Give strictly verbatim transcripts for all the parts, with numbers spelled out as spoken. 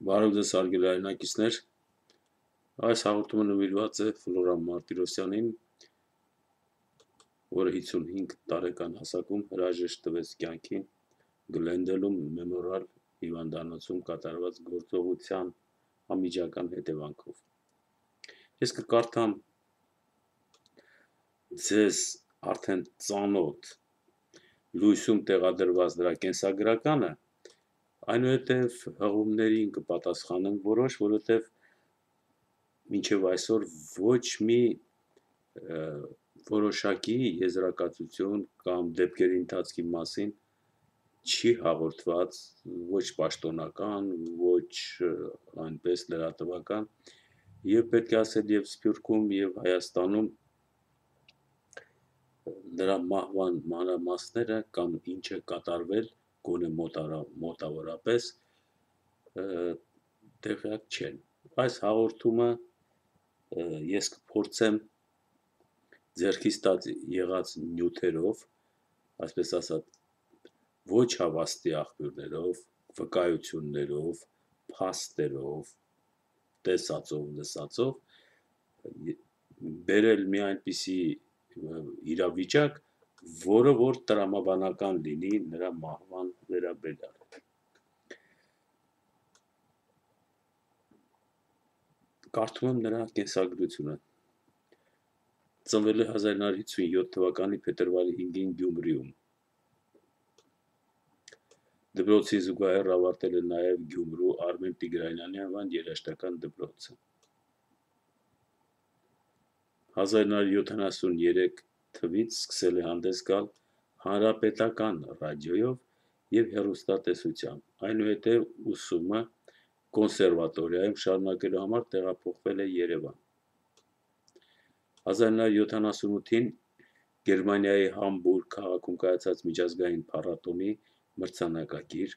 Բարև ձեզ հարգելի հայրենակիցներ, այս հաղորդումը նվիրված է Ֆլորա Մարտիրոսյանին, որը հիսունհինգ տարեկան հասակում հրաժեշտ տվեց կյանքին Գլենդելում մեմորիալ հիվանդանոցում կատարված գործողության անմիջական հետևանքով։ Ես կկարդամ ձեզ արդեն ծանոթ լույսում տեղադրված նրա կենսագրականը, այնուհետև հղումներին կպատասխանեմ որոշ, որովհետև մինչև այսօր ոչ մի որոշակի եզրակացություն կամ դեպքերի ընթացքի մասին չի հաղորդված, ոչ պաշտոնական, ոչ այնպես լրատվական, եւ պետք է ասել եւ Սփյուռքում եւ Հայաստանում նրա մահվան մանրամասները կամ ինչ է կատարվել գոնե մոտավորապես տեղյակ չեն։ Այս հաղորդումը ես կփորձեմ ձեռքից տած եղած նյութերով, այսպես ասած, ոչ հավաստի աղբյուրներով, վկայություններով, փաստերով, տեսածով, լսածով բերել մի այնպիսի իրավիճակ, որը որ տրամաբանական լինի նրա մահվան վերաբերյալ։ Կարդում եմ նրա կենսագրությունը։ Ծնվել է հազար նոր հիսունյոթ թվականի փետրվարի հինգին Գյումրիում։ Դպրոցի զուգահեռ ավարտել է նաև Գյումրու Արմեն Տիգրանյանի անվան երաժշտական դպրոցը։ հազար նոր յոթանասուներեք թվականից սկսել է հանդես գալ հանրապետական ռադիոյով եւ հեռուստատեսությամբ, այնուհետև ուսումը կոնսերվատորիայում շարունակելու համար տեղափոխվել է Երևան։ հազար նոր յոթանասունութին Գերմանիայի Համբուրգ քաղաքում կայացած միջազգային փառատոնի մրցանակակիր,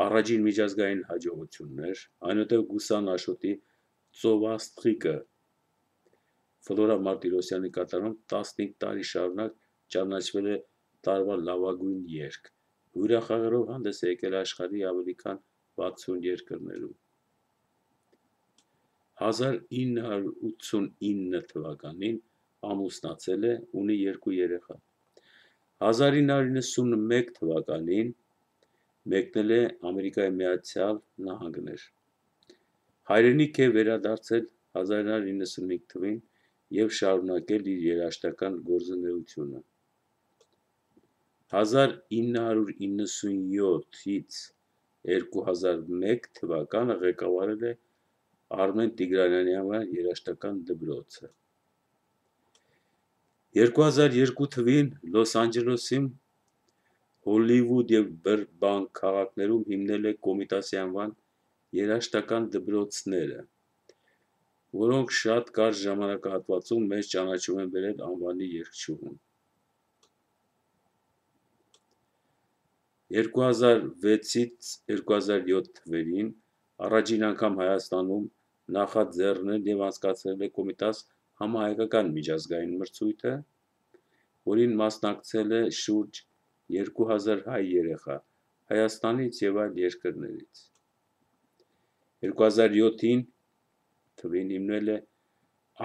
առաջին միջազգային հաջողություններ, այնուհետև Գուսան Աշոտի ծովաստղիկը Ֆլորա Մարտիրոսյանի կատարում տասնհինգ տարի շարունակ ճանաչվել է տարվա լավագույն երգ, հյուրախաղերով հանդես է եկել աշխարհի ավելի քան վաթսուն երկրներում։ հազար ինը հարյուր ութսունինը թվականին ամուսնացել է, ունի երկու երեխա։ հազար ինը հարյուր նվաթ թվականին մեկնել է Ամերիկայի Միացյալ Նահանգներ։ Հայրենիք է վերադարձել հազար ինը հարյուր նվաթ թվականին եւ շարունակել իր երաժշտական գործունեությունը։ հազար ինը հարյուր նվաթից երկու հազար մեկ թվականը ղեկավարել է Արմեն Տիգրանյանի անվան երաժշտական դպրոցը։ երկու հազար երկու թվականին Լոս Անջելեսում, Հոլիվուդ եւ Բըրբանք քաղաքներում հիմնել է Կոմիտասի անվան երաժշտական դպրոցները, որոնք շատ կարճ ժամանակահատվածում մեծ ճանաչում են բերել անվանի երգչուհուն։ երկու հազար վեցից երկու հազար յոթ թվականին առաջին անգամ Հայաստանում նախաձեռնել եւ անցկացրել է Կոմիտաս համահայկական միջազգային մրցույթը, որին մասնակցել է շուրջ երկու հազար հայ երեխա Հայաստանից եւ այլ երկրներից։ երկու հազար յոթ թվականին հիմնել է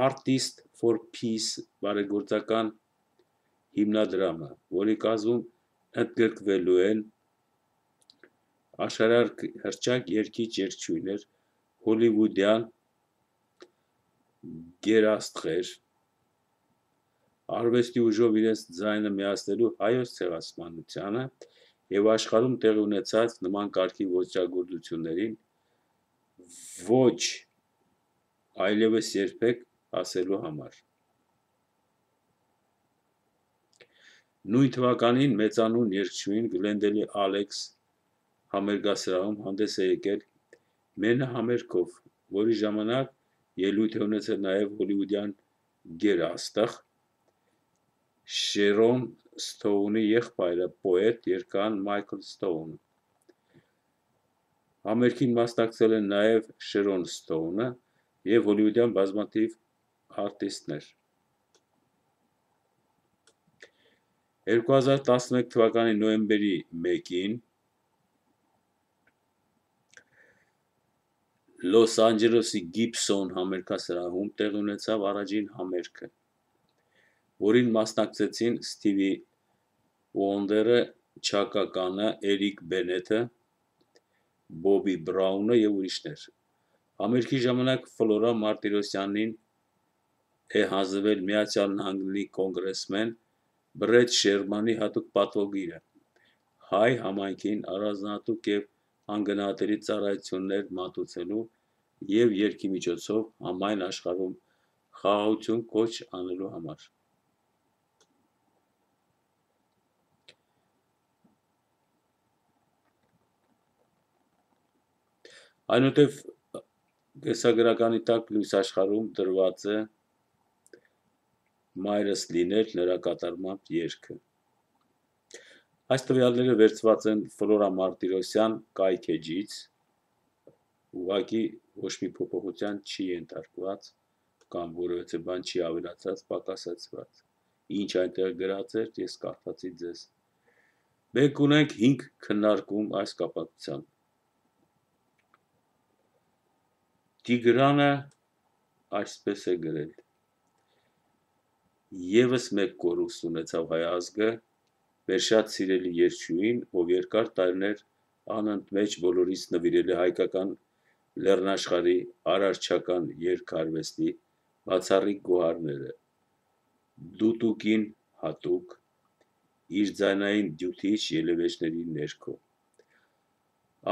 Artists for Peace բարեգործական հիմնադրամը, որի կազմում ընդգրկվելու են աշխարհահռչակ երգիչ-երգչուհիներ, հոլիվուդյան գերաստղեր, արվեստի ուժով իրենց ձայնը միացնելու Հայոց ցեղասպանությանը եւ աշխարհում տեղի ունեցած նման կարգի ոճրագործություններին ոչ այլևս երբեք ասելու համար։ Նույն թվականին մեծանուն երգչուհին Գլենդելի Ալեքս համերգասրահում հանդես է եկել մենահամերգով, որի ժամանակ ելույթ է ունեցել նաև հոլիվուդյան գերաստղ Շերոն Սթոունի եղբայրը, պոետ, երգահան Մայքլ Սթոունը։ Համերգին մասնակցել են նաև Շերոն Սթոունը եւ հոլիվուդյան բազմաթիվ արտիստներ։ երկու հազար տասնմեկ թվականի նոյեմբերի մեկին Լոս Անջելեսի Գիբսոն համերգասրահում տեղի ունեցավ առաջին համերգը, որին մասնակցեցին Սթիվի Ուոնդերը, Չակա Կանը, Էրիկ Բենեթը, Բոբի Բրաունը և ուրիշներ։ Համերգի ժամանակ Ֆլորա Մարտիրոսյանին է հանձնվել Միացյալ Նահանգների կոնգրեսմեն Բրեդ Շերմանի հատուկ պատվոգիրը հայ համայնքին առանձնահատուկ և անգնահատելի ծառայություններ մատուցելու և երգի միջոցով համայն աշխարհում խաղաղություն կոչ անելու համար։ Այնուհետև կեսագրականի տակ լույս աշխարհում դրված է «Մայրս լինել» նրա կատարմամբ երգը։ Այս տվյալները վերցված են Ֆլորա Մարտիրոսյան կայքէջից, ուղղակի ոչ մի փոփոխության չի ենթարկված կամ որևէ բան չի ավելացած, պակասեցված, ինչ այնտեղ գրած էր, ես կարդացի ձեզ։ Մենք ունենք հինգ քննարկում այս կապակցությամբ։ Տիգրանը այսպես է գրել. Եվս մեկ կորուստ ունեցավ հայ ազգը, վերշած սիրելի երգչուհին, ով երկար տարիներ անընդմեջ բոլորիս նվիրել է հայկական լեռնաշխարհի արարչական երգարվեստի բացառիկ գոհարները, դուտուկին հատուկ, իր ձայնային դյութիչ ելևէջների ներքո։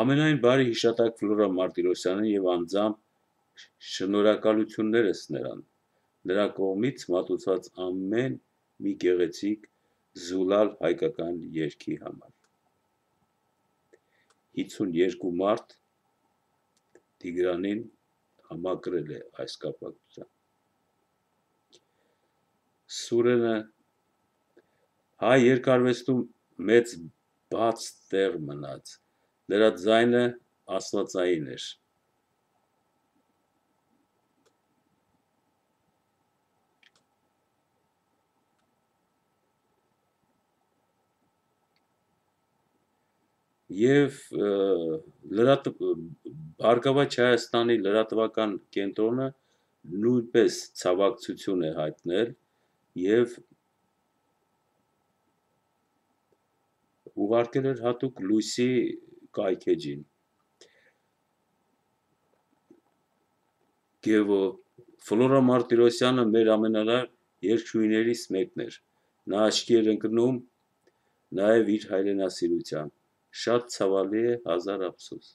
Ամենայն բարի հիշատակ Ֆլորա Մարտիրոսյանին և անձամբ շնորհակալություններս նրան, նրա կողմից մատուցված ամեն մի գեղեցիկ զուլալ հայկական երգի համար։ հինգսունուերկու մարդ Տիգրանին համակրել է այս կապակցությամբ։ Սուրենը հայ երգարվեստում մեծ բաց տեղ մնաց, նրա ձայնը աստվածային էր։ Եվ լրատ Բարգավաճ Հայաստանի լրատվական կենտրոնը նույնպես ցավակցություն է հայտնել և ուղարկել էր հատուկ լույսի կայքէջին։ Գևո Ֆլորա Մարտիրոսյանը մեր ամենալավ երգչուհիներից մեկն էր, նա աչքի էր ընկնում նաև իր հայրենասիրությամբ, շատ ցավալի է, հազար ափսոս։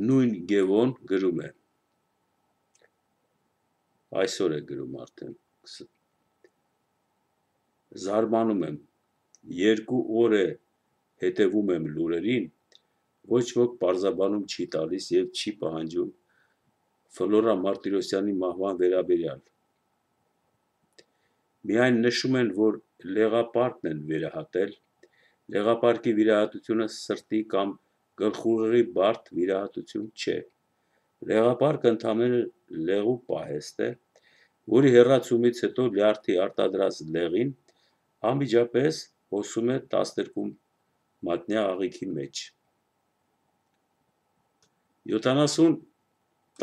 Նույն Գևոն գրում է, այսօր է գրում արդեն, զարմանում եմ, երկու օր է հետևում եմ լուրերին, ոչ ոք պարզաբանում չի տալիս և չի պահանջում Ֆլորա Մարտիրոսյանի մահվան վերաբերյալ։ Միայն նշում են, որ լեղապարկն են վերահատել, լեղապարկի վիրահատությունը սրտի կամ գլխուղեղի բարդ վիրահատություն չէ։ Լեղապարկը ընդամենը լեղու պահեստ է, որի հեռացումից հետո լյարդի արտադրած լեղին անմիջապես հոսում է տասներկու մատնյա աղիքի մեջ։ յոթանասուն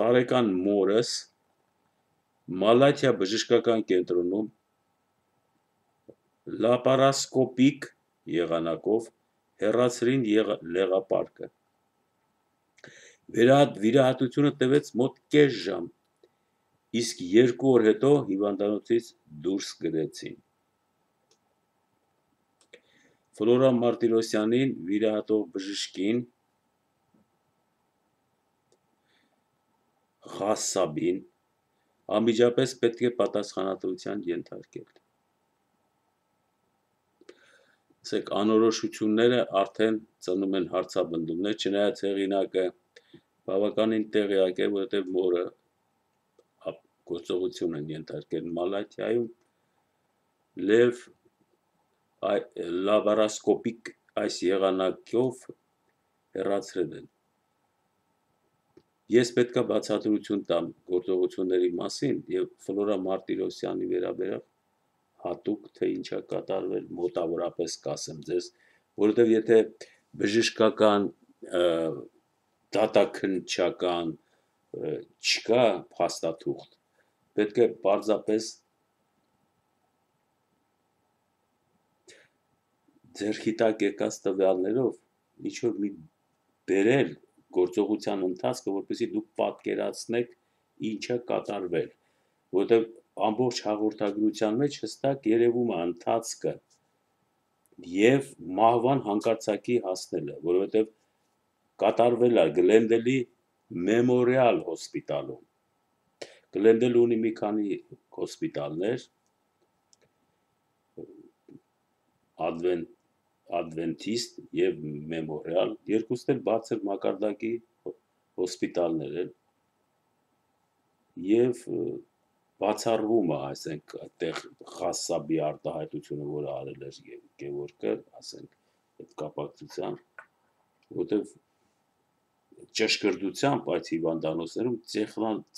տարեկան մորս Մալաթիա բժշկական կենտրոնում լապարասկոպիկ եղանակով հեռացրին լեղապարկը։ Վիրահատությունը տևեց մոտ կես ժամ, իսկ երկու օր հետո հիվանդանոցից դուրս գրեցին։ Ֆլորա Մարտիրոսյանին վիրահատող բժշկին Ղասսաբին անմիջապես պետք է պատասխանատվության ենթարկել։ Ասեք, անորոշությունները արդեն ծնում են հարցաբնդումներ, չնայած հեղինակը բավականին տեղյակ է, որովհետև մորը գործողություն են ենթարկել Մալաթիայում, լև լաբարասկոպիկ այս եղանակով հեռացրել են։ Ես պետք է բացատրություն տամ գործողությունների մասին և Ֆլորա Մարտիրոսյանի վերաբերյալ հատուկ թե ինչա կատարվել մոտավորապես կասեմ ձեզ, որովհետև եթե բժշկական դատաքննչական չկա փաստաթուղթ, պետք է պարզապես ձեռքի տակ եկած տվյալներով ինչ-որ մի բերել գործողության ընթացքը, որպեսզի դուք պատկերացնեք ինչ է կատարվել, որովհետև ամբողջ հաղորդագրության մեջ հստակ երևում է ընթացքը և մահվան հանկարծակի հասնելը, որովհետև կատարվել է Գլենդելի Մեմորիալ հոսպիտալում, Գլենդելը ունի մի քանի հոսպիտալներ, Advent, Adventist և Մեմորիալ, երկուսն էլ բարձր մակարդակի հոսպիտալներ են և բացառվում է, ասենք, այդտեղ խասսաբի արտահայտությունը, որը արել էր Գևորգը, ասենք, այդ կապակցության, որովհետև ճշգրտությամբ այդ հիվանդանոցներում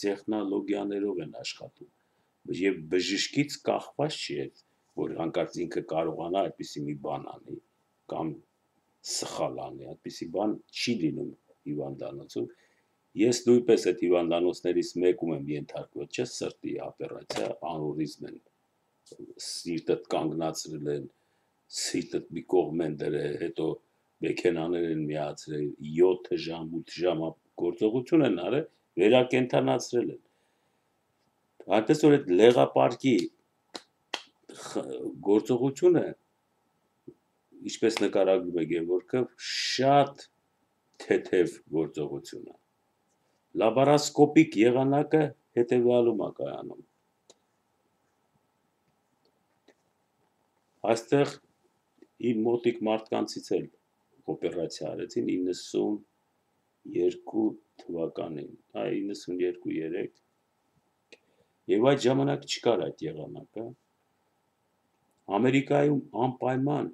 տեխնոլոգիաներով են աշխատում և բժշկից կախված չի, որ հանկարծ ինքը կարողանա այդպիսի մի բան անի կամ սխալ անի, այդպիսի բան չի լինում հիվանդանոցում, ես նույնպես այդ հիվանդանոցներից մեկում եմ ենթարկվել, չէ, սրտի օպերացիա, անուրիզմ են, սիրտդ կանգնացրել են, սիրտդ մի կողմ են դրել, հետո մեքենաներ են միացրել, յոթ ժամ, ութ ժամ գործողություն են արել, վերակենդանացրել են, այնպես որ այդ լեղապարկի գործողությունը, ինչպես նկարագրում է Գևորգը, շատ թեթև գործողություն է, լաբարասկոպիկ եղանակը հետևյալում է կայանում, այստեղ իմ մոտիկ մարդկանցից էլ օպերացիա արեցին իննսունյերկու թվականին, այ իննսունյերկու երեք, և այդ ժամանակ չկար այդ եղանակը, Ամերիկայում անպայման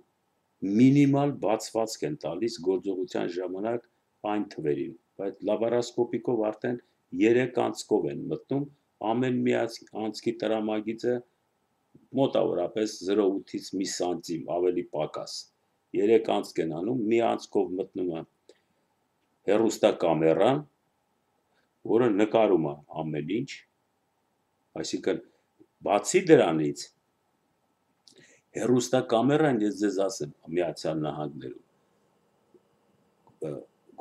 մինիմալ բացվածք են տալիս գործողության ժամանակ այն թվերին, բայց լաբարասկոպիկով արդեն երեք անցքով են մտնում, ամեն մի անցքի տրամագիծը մոտավորապես զրո կoma ութից մի սանտիմ ավելի պակաս, երեք անցք են անում, մի անցքով մտնում է հեռուստակամերան, որը նկարում է ամեն ինչ, այսինքն բացի դրանից, հեռուստակամերան, ես ձեզ ասեմ, Միացյալ Նահանգներում,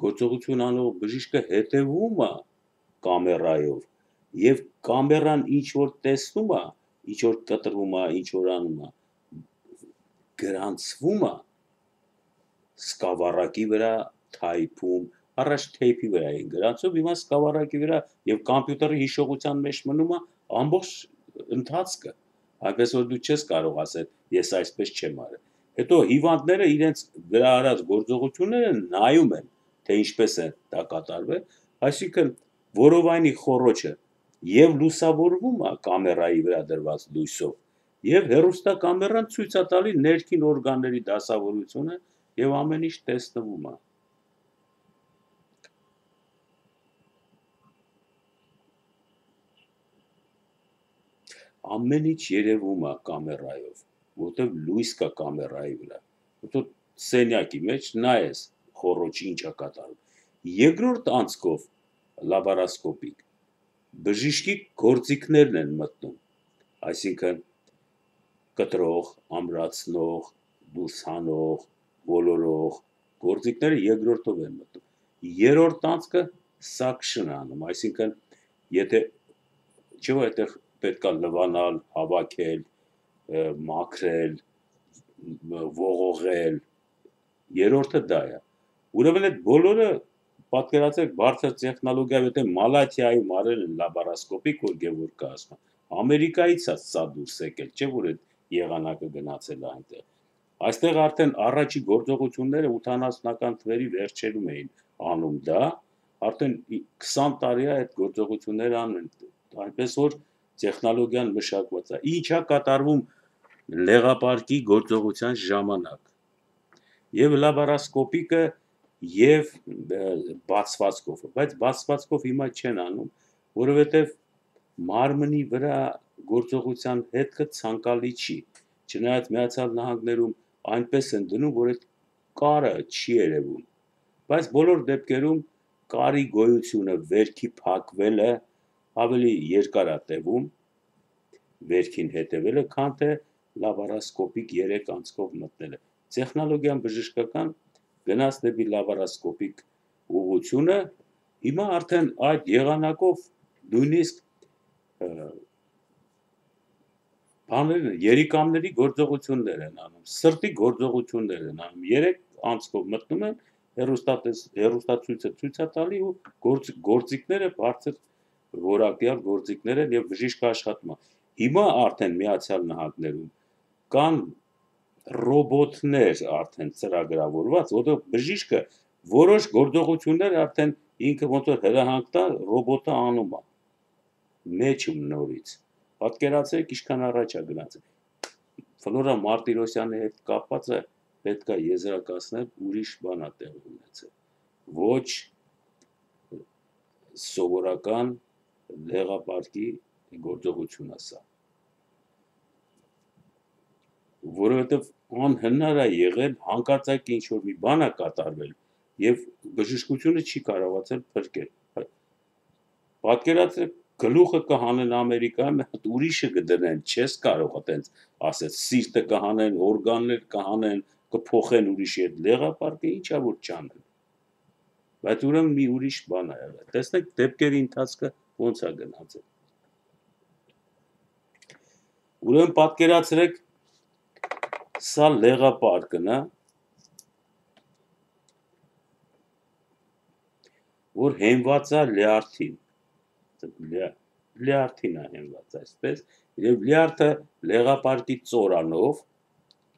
գործողություն անող բժիշկը հետևում է կամերայով և կամերան ինչ-որ տեսնում է, ինչ-որ կտրվում է, ինչ-որ անում է, գրանցվում է սկավառակի վրա, թայփում, առաջ թեյփի վրա էին գրանցում, հիմա սկավառակի վրա և կամպյուտերի հիշողության մեջ մնում է ամբողջ ընթացքը, այնպես որ դու չես կարող ասել, ես այսպես չեմ արել, հետո հիվանդները իրենց վրա արած գործողությունները նայում են, թե ինչպես է դա կատարվել, այսինքն որովայնի խոռոչը և լուսավորվում է կամերայի վրա դրված լույսով, և հեռուստակամերան ցույց է տալի ներքին օրգանների դասավորությունը և ամեն ինչ տեսնվում է։ Ամեն ինչ երևում է կամերայով, որտև լույս կա կամերայի վրա, որտև սենյակի մեջ նայես խոռոչի ինչ է կատարում, երկրորդ անցքով լաբարասկոպիկ, բժիշկի գործիքներն են մտնում, այսինքն կտրող, ամրացնող, դուրս հանող, ոլորող, գործիքները երկրորդով են մտնում, երրորդ անցքը suction անում, այսինքն եթե չէ՞ որ այդտեղ պետք է լվանալ, հավաքել, մաքրել, ողողել, երրորդը դա է, ուրեմն այդ բոլորը պատկերացրեք բարձր տեխնոլոգիայով, եթե Մալաթիայում արել են լաբարասկոպիկ, որ Գևորգը ասում է, Ամերիկայից է սա դուրս եկել, չէ՞ որ այդ եղանակը գնացել է այնտեղ, այստեղ արդեն առաջի գործողությունները ութանասունական թվերի վերջերում էին անում դա, արդեն քսան տարի է այդ գործողությունները անում են, այնպես որ տեխնոլոգիան մշակված է, ինչ է կատարվում լեղապարկի գործողության ժամանակ, և լաբարասկոպիկը և բացվածքով, բայց բացվածքով հիմա չեն անում, որովհետև մարմնի վրա գործողության հետքը ցանկալի չի, չնայած Միացյալ Նահանգներում այնպես են դնում, որ այդ կարը չի երևում, բայց բոլոր դեպքերում կարի գոյությունը վերքի փակվելը ավելի երկար է տևում, վերքին հետևելը, քան թե լաբարասկոպիկ երեք անցքով մտնելը։ Տեխնոլոգիան բժշկական գնաց դեպի լաբարասկոպիկ ուղղությունը, հիմա արդեն այդ եղանակով նույնիսկ բաները, երիկամների գործողություններ են անում, սրտի գործողություններ են անում, երեք անցքով մտնում են, հեռուստացույցը ցույց է տալի ու գործ, գործիքները բարձր որակյալ գործիքներ են եւ բժիշկը աշխատում է։ Հիմա արդեն Միացյալ Նահանգներում կան ռոբոտներ արդեն ծրագրավորված, որտեղ բժիշկը որոշ գործողություններ արդեն ինքը ոնց որ հրահանգ տա, ռոբոտը անում է։ Մեջում նորից։ Պատկերացրեք, ինչքան առաջ է գնացել։ Ֆլորա Մարտիրոսյանի հետ կապվածը պետք է եզրակացնել ուրիշ բան է տեղի ունեցել։ Ոչ սովորական դեղապարտի գործողություն է սա։ Որովհետև անհնար է եղել հանկարծակի ինչ-որ մի բան է կատարվել եւ բժշկությունը չի կարողացել փրկել։ Պատկերացրեք, գլուխը կհանեն Ամերիկայում, հատ ուրիշը կդնեն, չես կարող այտենց ասել, սիրտը կհանեն, օրգաններ կհանեն, կփոխեն ուրիշի հետ, դեղապարտը ինչա որ չանեն։ Բայց ուրեմն մի ուրիշ բան է եղել։ Տեսնեք դեպքերի ընթացքը ոնց է գնացել։ Ուրեմն պատկերացրեք, սա լեղապարկն է, որ հենված է լյարդին, լյարդին է հենված այսպես, եւ լյարդը լեղապարկի ծորանով,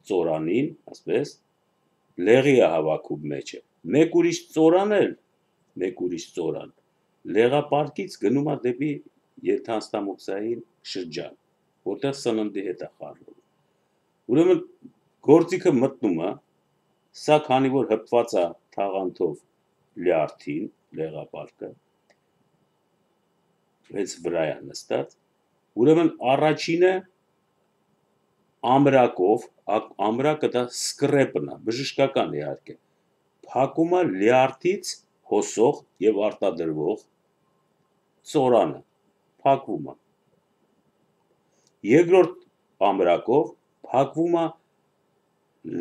ծորանին, ասպես, լեղի է հավաքում մեջը, մեկ ուրիշ ծորան էլ, մեկ ուրիշ ծորան, լեղապարկից գնում է դեպի եթանստամոքսային շրջան, որտեղ սննդի հետ է խառնվում։ Ուրեմն գործիքը մտնում է, սա քանի որ հպված է թաղանթով լյարդին, լեղապարկը, հենց վրա է նստած, ուրեմն առաջինը ամրակով, ամրակը դա սկրեպն է, բժշկական իհարկե, փակում է լյարդից հոսող եւ արտադրվող ծորանը, փակվում է։ Երկրորդ ամրակով փակվում է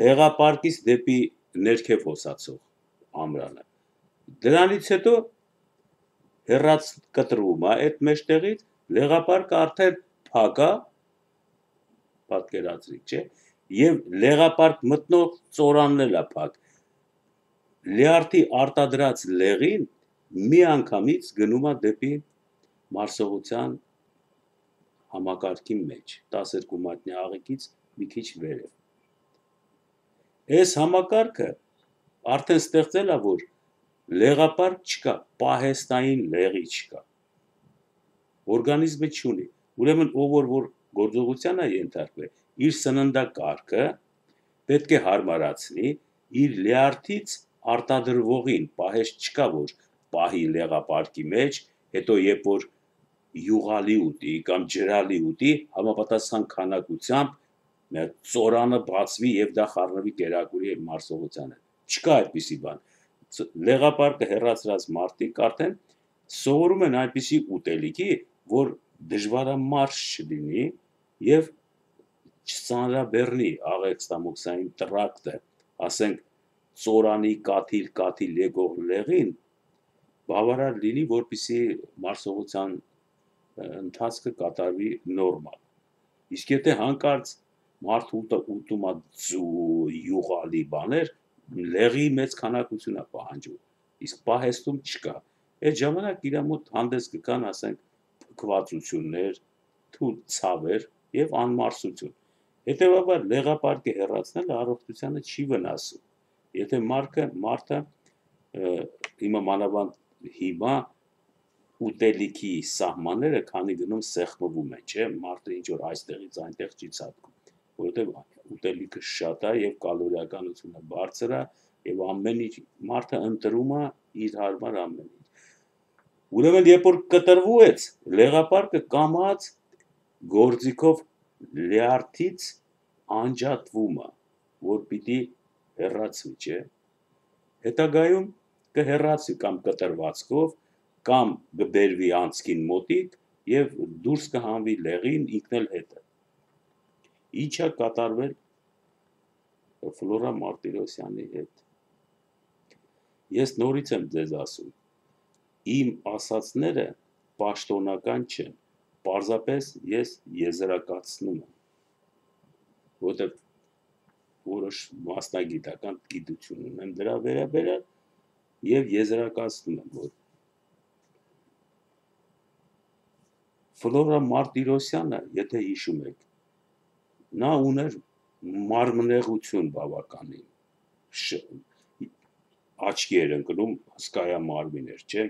լեղապարկից դեպի ներքև հոսացող ամրանը։ Դրանից հետո հեռաց կտրվում է այդ մեջտեղից, լեղապարկը արդեն փակ է, պատկերացրիք, չէ, եւ լեղապարկ մտնող ծորանն էլ է փակ։ Լյարդի արտադրած լեղին մի անգամից գնում է դեպի մարսողության համակարգի մեջ, տասներկու մատնյա աղիքից մի քիչ վերև։ Այս համակարգը արդեն ստեղծել է, որ լեղապարկ չկա, պահեստային լեղի չկա, օրգանիզմը չունի, ուրեմն ով որ, որ գործողության է ենթարկվել, իր սննդակարգը պետք է հարմարացնի, իր լյարդից արտադրվողին, պահեստ չկա, որ պահի լեղապարկի մեջ, հետո երբ որ յուղալի ուտի կամ ջրալի ուտի, համապատասխան քանակությամբ ծորանը բացվի եւ դա խառնվի կերակուրի եւ մարսողությանը։ Չկա այդպիսի բան։ Լեղապարկը հեռացրած մարդիկ արդեն սովորում են այնպիսի ուտելիքի, որ դժվարամարս չլինի եւ չծանրաբեռնի աղեքստամոքսային տրակտը, ասենք ծորանի կաթիլ կաթիլ եկող լեղին բավարար լինի, որպեսզի մարսողության ընթացքը կատարվի նորմալ։ Իսկ եթե հանկարծ մարդը ուտում է յուղալի բաներ, լեղի մեծ քանակություն է պահանջում, իսկ պահեստում չկա։ Այդ ժամանակ իր մոտ հանդես կգան, ասենք, փքվածություններ, թույլ ցավեր եւ անմարսություն։ Հետևաբար լեղապարկը հեռացնելը առողջությանը չի վնասում։ Եթե մարդը մարդը հիմա մանավանդ հիմա ուտելիքի սահմանները քանի գնում սեղմվում են, չէ, մարդը ինչ որ այստեղից այնտեղ չի ցատկում, որովհետև ուտելիքը շատ է եւ կալորիականությունը բարձր է եւ ամեն ինչ մարդը ընտրում է իր հարմար ամեն ինչ։ Ուրեմն երբ որ կտրվեց, լեղապարկը կամած գործիքով լյարդից անջատվում է, որ պիտի հեռացվի, չէ։ Հետագայում կհեռացի կամ կտրվածքով, կամ կբերվի անցքին մոտիկ եւ դուրս կհանվի լեղին ինքնել հետը։ Ինչա կատարվել Ֆլորա Մարտիրոսյանի հետ։ Ես նորից եմ ձեզ ասում, իմ ասածները պաշտոնական չեն, պարզապես ես եզրակացնում եմ, որտեղ որոշ մասնագիտական գիտություն ունեմ դրա վերաբերյալ եւ եզրակացնում եմ, որ Ֆլորա Մարտիրոսյանը, եթե հիշում եք, նա ուներ մարմնեղություն բավականին, աչքի էր ընկնում, հսկայա մարմին էր, չէ՞։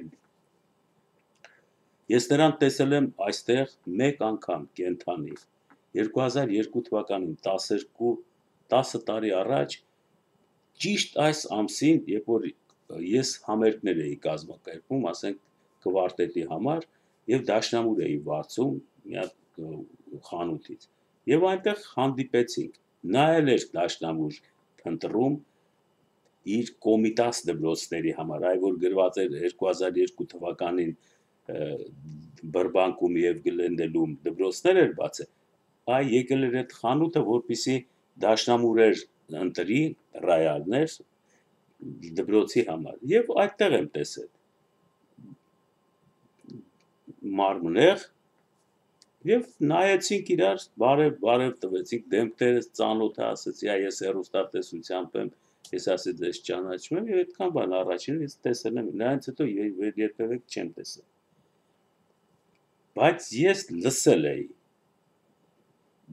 Ես նրան տեսել եմ այստեղ մեկ անգամ կենթանի, երկու հազար երկու թվականին տասը տարի առաջ, ճիշտ այս ամսին, երբ որ ես համերգներ էի կազմակերպում, ասենք կվարտետի համար, եւ դաշնամուր էի վարձում մի հատ խանութից։ Եվ այնտեղ հանդիպեցինք, նա էլ էր դաշնամուր փնտրում իր կոմիտաս դպրոցների համար, այ որ գրված էր երկու հազար երկու թվականին Բրբանկում եւ Գլենդելում դպրոցներ էր բացել, այ եկել էր այդ խանութը, որպեսզի դաշնամուրեր ընտրի ռայալներ դպրոցի համար, եւ այդտեղ եմ տեսել մարմնեղ, եւ նայեցինք իրար, բարև բարև տվեցինք, դեմքերս ծանոթ է, ասեցի, այ ես հեռուստատեսությամբ եմ, ես ասի ձեզ ճանաչում եմ, եւ այդքան բան առաջին ես տեսել եմ, նրանից հետո երբևէ չեմ տեսել։ Բայց ես լսել էի,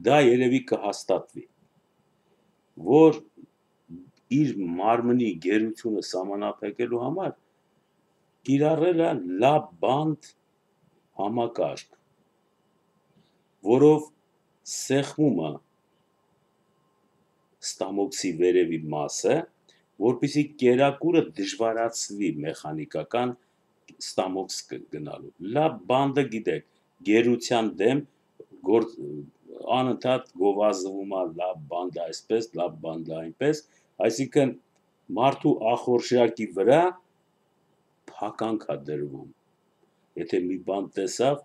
դա երևի կհաստատվի, որ իր մարմնի գերությունը սահմանափակելու համար կիրառել է լա բանդ համակարգ, որով սեղմում է ստամոքսի վերևի մասը, որպեսզի կերակուրը դժվարացվի մեխանիկական ստամոքս գնալու։ Լա բանդը գիտեք, գերության դեմ անընդհատ գովազդվում է լա բանդը այսպես, լա բանդը այնպես, այսինքն մարդու ախորժակի վրա փականք է դրվում։ Եթե մի բան տեսավ,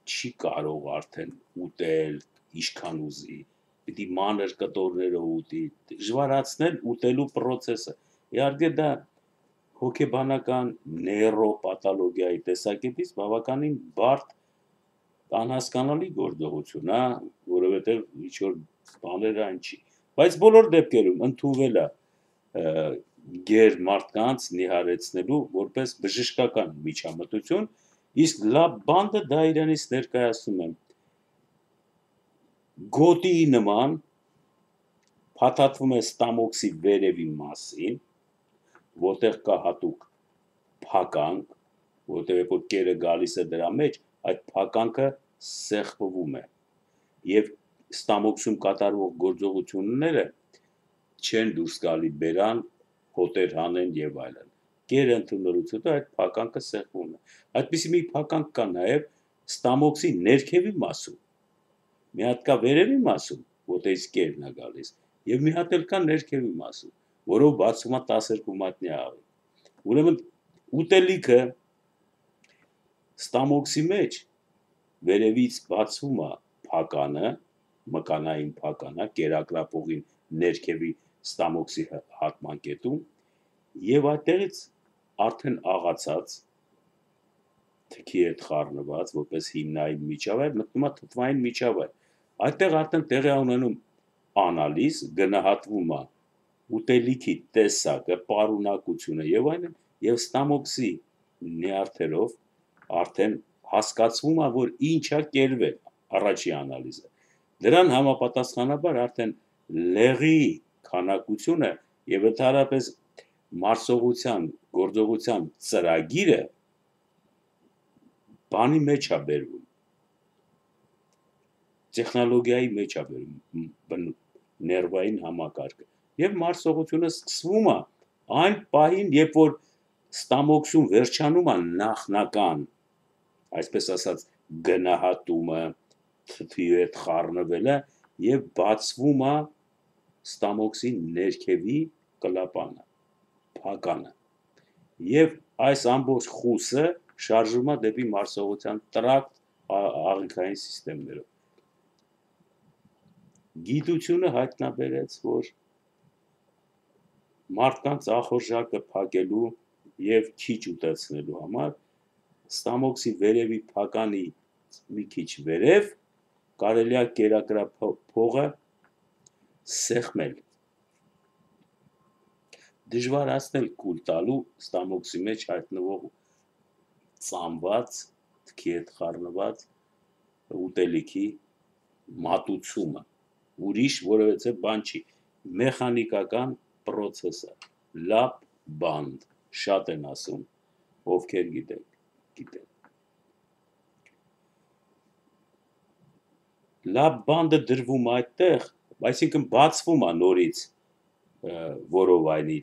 չի կարող արդեն ուտել, ինչքան ուզի, պիտի մանր կտորներով ուտի, դժվարացնել ուտելու process-ը։ Իհարկե դա հոգեբանական նեյրոպաթոլոգիայի տեսակետից բավականին բարդ անհասկանալի գործողություն է, որովհետև ինչ-որ բաներ այն չի, բայց բոլոր դեպքերում ընդունվել է գեր մարդկանց նիհարեցնելու որպես բժշկական միջամտություն, իսկ լա բանդը դա իրենից ներկայացնում եմ գոտիի նման փաթաթվում է ստամոքսի վերևի մասին, որտեղ կա հատուկ փականք, որտեղ երբ որ կերը գալիս է դրա մեջ, այդ փականքը սեղմվում է եւ ստամոքսում կատարվող գործողությունները չեն դուրս գալի բերան, հոտեր հանեն եւ այլն։ Կերը ընդունելուց հետո այդ փականքը սեղմվում է։ Այդպիսի մի փականք կա նաեւ ստամոքսի ներքևի մասում։ Մի հատ կա վերևի մասում, որտեղից կերն է գալիս, եւ մի հատ էլ կա ներքևի մասում, որով բացվում է տասներկու մատնյա աղի։ Ուրեմն ուտելիքը ստամոքսի մեջ վերևից բացվում է փականը, մկանային փականը, կերակրապողին ներքևի ստամոքսի հատման կետում, եւ այդտեղից արդեն աղացած թքի հետ խառնված, որպես հիմնային միջավայր, մտնում է թթվային միջավայր։ Այդտեղ արդեն տեղի ունենում անալիզ, գնահատվում է ուտելիքի տեսակը, պարունակությունը եւ այլն, եւ ստամոքսի նյարդերով արդեն հասկացվում է, որ ինչա կերվել առաջի անալիզը։ Դրան համապատասխանաբար արդեն լեղի քանակությունը եւ ընդհանրապես մարսողության գործողության ծրագիրը բանի մեջ է բերվում, տեխնոլոգիայի մեջ է բերվում ներվային համակարգը եւ մարսողությունը սկսվում է այն պահին, երբ որ ստամոքսում վերջանում է նախնական, այսպես ասած, գնահատումը, թթվի հետ խառնվելը եւ բացվում է ստամոքսի ներքևի կլապանը, փականը։ Եվ այս ամբողջ խուսը շարժվում է դեպի մարսողության տրակտ աղիքային սիստեմներով։ Գիտությունը հայտնաբերեց, որ մարդկանց ախորժակը փակելու եւ քիչ ուտեցնելու համար ստամոքսի վերևի փականի մի քիչ վերև կարելի է կերակրափողը սեղմել, դժվարացնել կուլ տալու ստամոքսի մեջ հայտնվող ծամված, թքի հետ խառնված ուտելիքի մատուցումը, ուրիշ որևէ բան չի, մեխանիկական պրոցես է, լապ բանդ, շատ են ասում, ովքեր գիտեն, գիտեն։ Լապ բանդը դրվում այդտեղ, այսինքն բացվում է նորից որովայնի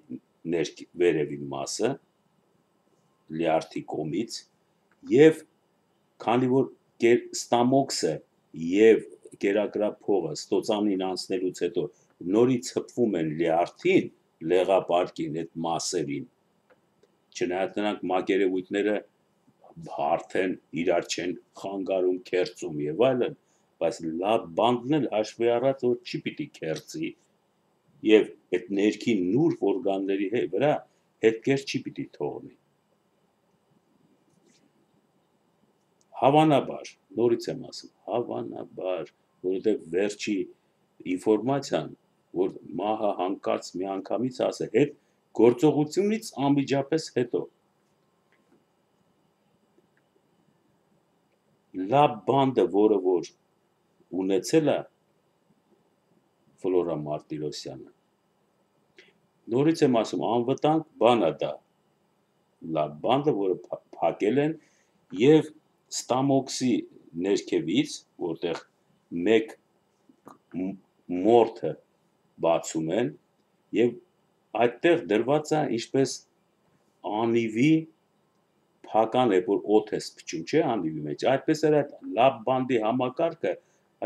վերևի մասը, լյարդի կողմից, եւ քանի որ ստամոքսը եւ կերակրափողը ստոծանին անցնելուց հետո նորից հպվում են լյարդին, լեղապարկին, այդ մասերին, չնայած նրանք մակերևույթները հարթ են, իրար չեն խանգարում, քերծում եւ այլն, բայց լապ բանդն էլ հաշվի առած որ չի պիտի քերծի եւ այդ ներքին նուրբ օրգանների վրա հետքեր չի պիտի թողնի։ Հավանաբար, նորից եմ ասում, հավանաբար, որովհետեւ վերջի ինֆորմացիան, որ մահը հանկարծ միանգամից ասել, հետ գործողությունից անմիջապես հետո լապ բանդը, որը որ ունեցել է Ֆլորա Մարտիրոսյանը, նորից եմ ասում, անվտանգ բան է դա, լապ բանդը, որը փակել են եւ ստամոքսի ներքևից, որտեղ մեկ մորթը բացում են եւ այդտեղ դրված է ինչպես անիվի փական է, որ օդ է սփչում, չէ, անիվի մեջ, այդպես էր այդ լապ բանդի համակարգը,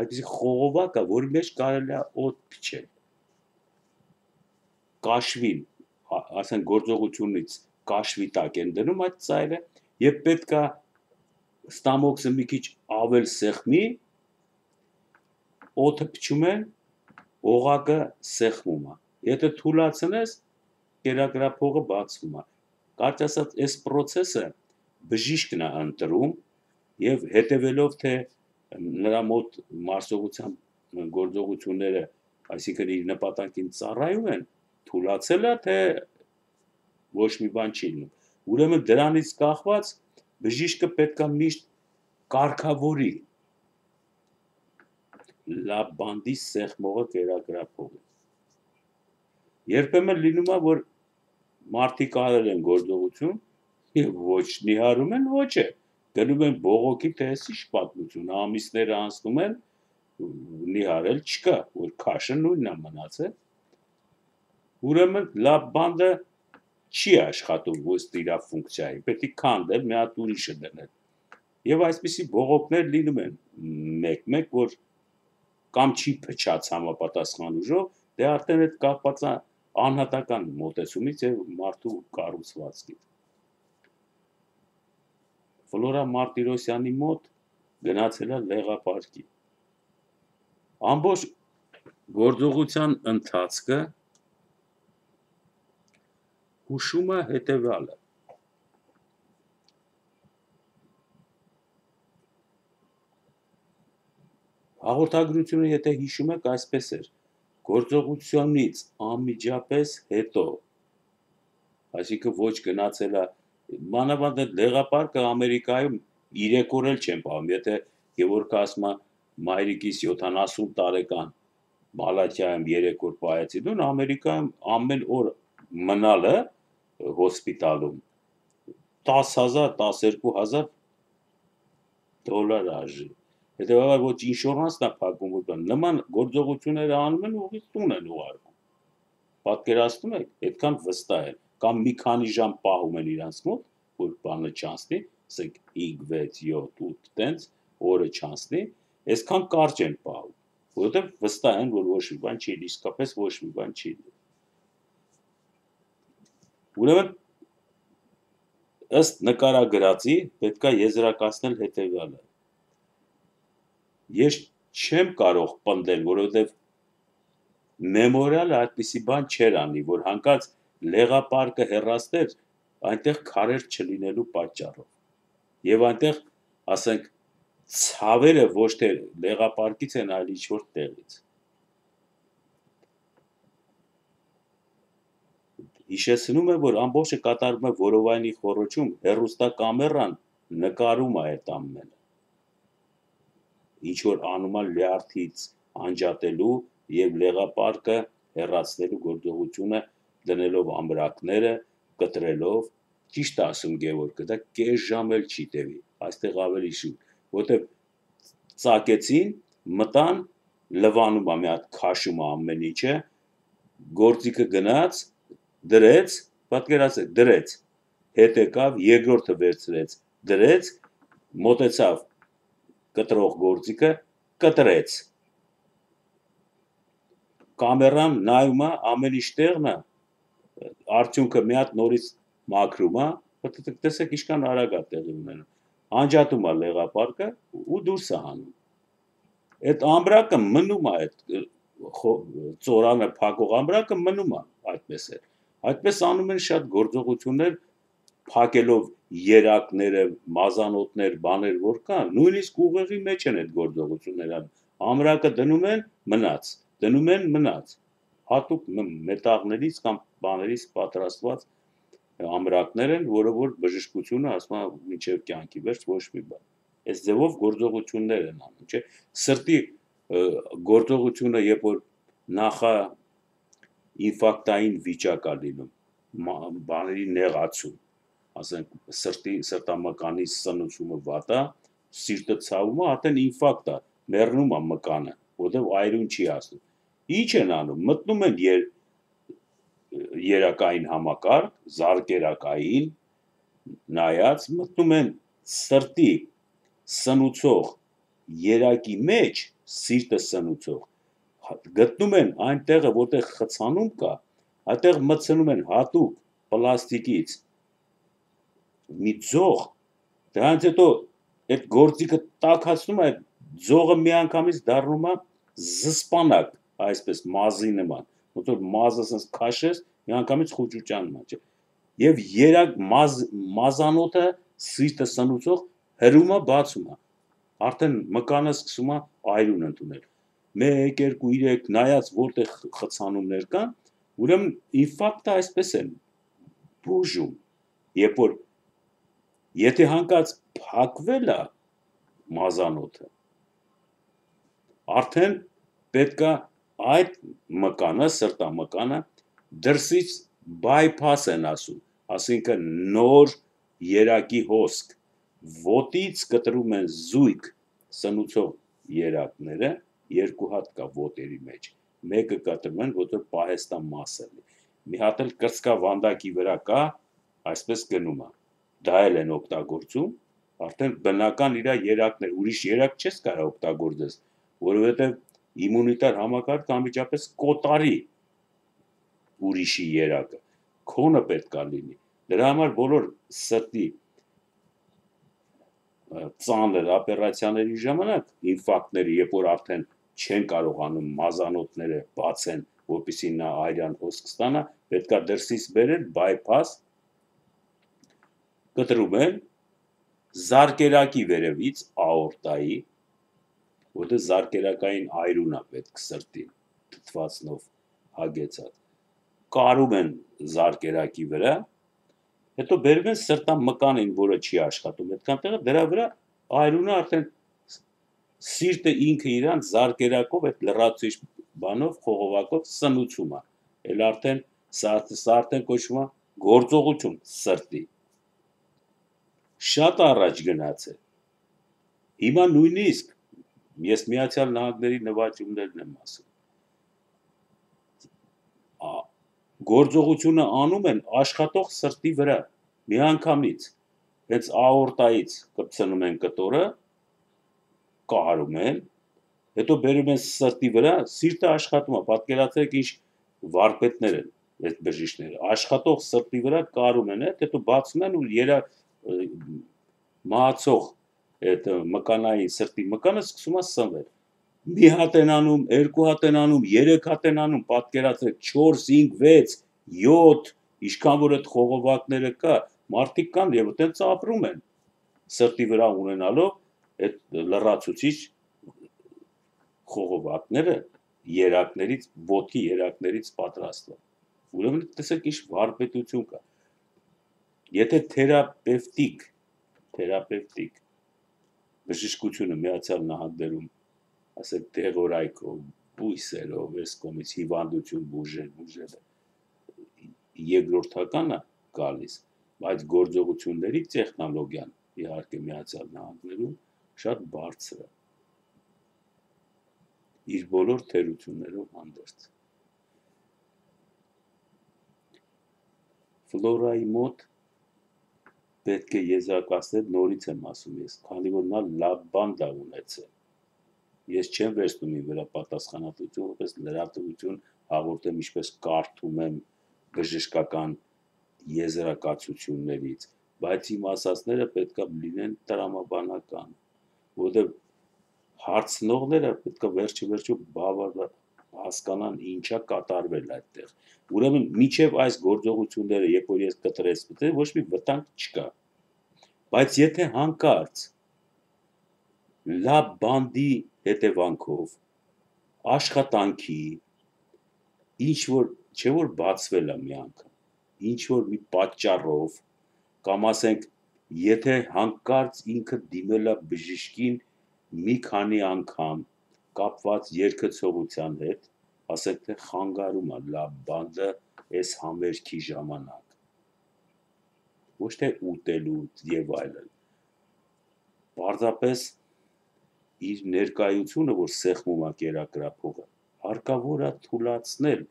այդպիսի խողովակ է, որի մեջ կարելի է օդ փչել։ Կաշվին, ասեն գործողությունից կաշվի տակ են դնում այդ ծայրը եւ պետք է ստամոքսը մի քիչ ավել սեղմի, օդը փչում են, օղակը սեղմում է։ Եթե թուլացնես, կերակրափողը բացվում է։ Կարճ ասած, այս process-ը բժիշկն է ընտրում եւ հետեւելով թե նրա մոտ մարսողության գործողությունները, այսինքն իր նպատակին ծառայում են, թուլացել է, թե ոչ մի բան չի լինում։ Ուրեմն դրանից կախված բժիշկը պետք է միշտ կարգավորի լապ բանդի սեղմողը կերակրափողը։ Երբեմն լինում է, որ մարդիկ արել են գործողություն եւ ոչ նիհարում են, ոչ է, գնում են բողոքի, թե էս ինչ պատմություն, ամիսները անցնում են, նիհարել չկա, որ քաշը նույնն է մնացել։ Ուրեմն լապ բանդը չի աշխատում ըստ իր ֆունկցիայի, պետք է քանդել, մի հատ ուրիշը դնել։ Եվ այսպիսի բողոքներ լինում են մեկ-մեկ, որ կամ չի փչած համապատասխան ուժով, դե արդեն այդ կապված է անհատական մոտեցումից եւ մարդու կառուցվածքից։ Ֆլորա Մարտիրոսյանի մոտ գնացել է լեղապարկի։ Ամբողջ գործողության ընթացքը հուշում է հետևյալը. հաղորդագրությունը, եթե հիշում եք, այսպես էր. գործողությունից անմիջապես հետո, այսինքն ոչ գնացել է, մանավանդ այդ լեղապարկը Ամերիկայում երեք օր էլ չեն պահում, եթե Գևորգը ասում է մայրիկիս յոթանասուն տարեկան Մալաթիայում երեք օր պահեցի, դուն Ամերիկայում ամեն օր մնալը հոսպիտալում տասը հազար, տասներկու հազար դոլար արժի։ Հետևաբար ոչ ինշորանսն է փակում, որ նման գործողությունները անում են, ուղիղ տուն են ուղարկում։ Պատկերացնում եք, այդքան վստահ են, կամ մի քանի ժամ պահում են իրանց մոտ, որ բանը չանցնի, ասենք հինգ, վեց, յոթ, ութ տենց օրը չանցնի, այսքան կարճ են պահում, որովհետև վստահ են, որ ոչ մի բան չի, իսկապես ոչ մի բան չի։ Ուրեմն ըստ նկարագրածի պետք է եզրակացնել հետևյալը. ես չեմ կարող պնդել, որովհետև մեմորիալը այդպիսի բան չէր անի, որ հանկարծ լեղապարկը հեռացներ այնտեղ քարեր չլինելու պատճառով։ Եվ այնտեղ, ասենք, ցավերը ոչ թե լեղապարկից են, այլ ինչ-որ տեղից։ Հիշեցնում եմ, որ ամբողջը կատարվում է որովայնի խոռոչում, հեռուստակամերան նկարում է այդ ամենը։ Ինչ-որ անում է լյարդից անջատելու և լեղապարկը հեռացնելու գործողությունը դնելով ամրակները, կտրելով, ճիշտ է ասում Գևորգը, դա կես ժամ էլ չի տևի, այստեղ ավելի շուտ, որտև ծակեցին, մտան, լվանում է մի հատ քաշում է ամեն ինչը, գործիքը գնաց, դրեց, պատկերացրեք, դրեց, հետ եկավ, երկրորդը վերցրեց, դրեց, մոտեցավ կտրող գործիքը, կտրեց։ Կամերան նայում է, ամեն ինչ տեղն է, արդյունքը մի հատ նորից մաքրում է, տեսեք ինչքան արագ է տեղի ունենում, անջատում է լեղապարկը ու դուրս է հանում։ Այդ ամրակը մնում է, այդ ծորանը փակող ամրակը մնում է այդպես է։ Այդպես անում են շատ գործողություններ, փակելով երակները, մազանոթներ, բաներ, որ կան, նույնիսկ ուղեղի մեջ են այդ գործողությունները, ամրակը դնում են, մնաց, դնում են, մնաց, հատուկ մետաղներից կամ բաներից պատրաստված ամրակներ են, որը որ բժշկությունը ասում է մինչև կյանքի վերջ ոչ մի բան։ Այս ձևով գործողություններ են անում, չէ՞։ Սրտի գործողությունը, երբ որ նախա ինֆարկտային վիճակ է լինում, բաների նեղացում, ասենք սրտի սրտամկանի սնուցումը վատ է, սիրտը ցավում է, արդեն ինֆարկտ է, մեռնում է մկանը, որտեղ այրուն չի հասնում։ Ինչ են անում, մտնում են եր, երակային համակարգ, զարկերակային, նայած, մտնում են սրտի սնուցող երակի մեջ, սիրտը սնուցող, գտնում են այնտեղը, որտեղ խցանում կա, այդտեղ մտցնում են հատուկ պլաստիկից մի ձող, դրանից հետո այդ գործիքը տաքացնում է, ձողը միանգամից դառնում է զսպանակ, այսպես մազի նման, ոնց որ մազը ասես քաշես, միանգամից խուճուճանում է, եւ երակ մազ, մազանոթը սիրտը սնուցող հրում է, բացում է, արդեն մկանը սկսում է այրուն ընդունել, մեկ, երկու, երեք, նայած որտեղ խցանումներ կան, ուրեմն ինֆարկտը այսպես են բուժում, երբ որ եթե հանկարծ փակվել է մազանոթը, արդեն պետք է այդ մկանը, սրտամկանը դրսից բայփաս են ասում, ասինքն նոր երակի հոսք, ոտից կտրում են զույգ սնուցող երակները, երկու հատ կա ոտերի մեջ, մեկը կտրում են, որտեղ պահեստա մասը է, մի հատ էլ կրծքավանդակի վրա կա, այսպես գնում է, դա էլ են օգտագործում, արդեն բնական իրա երակներ, ուրիշ երակ չես կարող օգտագործես, որովհետև իմունիտար համակարգը անմիջապես կոտարի ուրիշի երակը, քոնը պետք է լինի, դրա համար բոլոր սրտի ծանր օպերացիաների ժամանակ, ինֆարկտների, երբ որ արդեն չեն կարողանում մազանոթները բացեն, որպեսզի նա այրան հոսք ստանա, պետք է դրսից բերել բայփաս, կտրում են զարկերակի վերևից, աորտայի, որտեղ զարկերակային այրուն է պետք սրտին, թթվածնով հագեցած, կարում են զարկերակի վրա, հետո բերում են սրտամկանին, որը չի աշխատում այդքան տեղը, դրա վրա այրունը արդեն սիրտը ինքը իրան զարկերակով, այդ լրացուցիչ բանով, խողովակով սնուցում է, էլ արդեն սա արդեն կոչվում է գործողություն սրտի, շատ առաջ գնաց է, հիմա նույնիսկ ես Միացյալ Նահանգների նվաճումներն եմ ասում, գործողությունը անում են աշխատող սրտի վրա, միանգամից, հենց աորտայից կպցնում են կտորը, կարում են, հետո բերում են սրտի վրա, սիրտը աշխատում է, պատկերացրեք ինչ վարպետներ են, այդ բժիշկները, աշխատող սրտի վրա կարում են, այդ հետո բացում են ու երա մահացող այդ մկանայի սրտի մկանը սկսում է սնվել։ Մի հատ են անում, երկու հատ են անում, երեք հատ են անում, պատկերացրեք չորս, հինգ, վեց, յոթ, ինչքան որ այդ խողովակները կա, մարդիկ կան եւ այդպես ապրում են։ Սրտի վրա ունենալով այդ լրացուցիչ խողովակները երակներից, ոտքի երակներից պատրաստված։ Ուրեմն տեսեք ինչ վարպետություն կա։ Եթե թերապևտիկ, թերապևտիկ բժշկությունը Միացյալ Նահանգներում, ասենք դեղորայքով, բույսերով, այս կողմից հիվանդություն բուժել, բուժել երկրորդական է գալիս, բայց գործողությունների տեխնոլոգիան իհարկե Միացյալ Նահանգներում շատ բարձր է։ Իր բոլոր թերություններով հանդերձ։ Ֆլորայի մոտ պետք է եզրակացնել, նորից եմ ասում ես, քանի որ նա լավ բան դա ունեցել։ Ես չեմ վերցնում իմ վրա պատասխանատվություն, որպես լրատվություն հաղորդեմ, ինչպես կարդում եմ բժշկական եզրակացություններից, բայց իմ ասածները պետք է լինեն տրամաբանական, որովհետև հարցնողները պետք է վերջի վերջո բավարար հասկանան ինչա կատարվել այդտեղ։ Ուրեմն միջև այս գործողությունները, երբ որ ես կտրեցի, ոչ մի վտանգ չկա։ Բայց եթե հանկարծ լավ բանդի հետևանքով աշխատանքի ինչ որ չէ որ բացվել է մի անգամ, ինչ որ մի պատճառով կամ ասենք եթե հանկարծ ինքը դիմել է բժշկին մի քանի անգամ կապված երկեցողության հետ, ասենք թե խանգարում է լավ բանդը այս համերգի ժամանակ, ոչ թե ուտելու եւ այլն, պարզապես իր ներկայությունը, որ սեղմում է կերակրափողը, հարկավոր է թույլատրել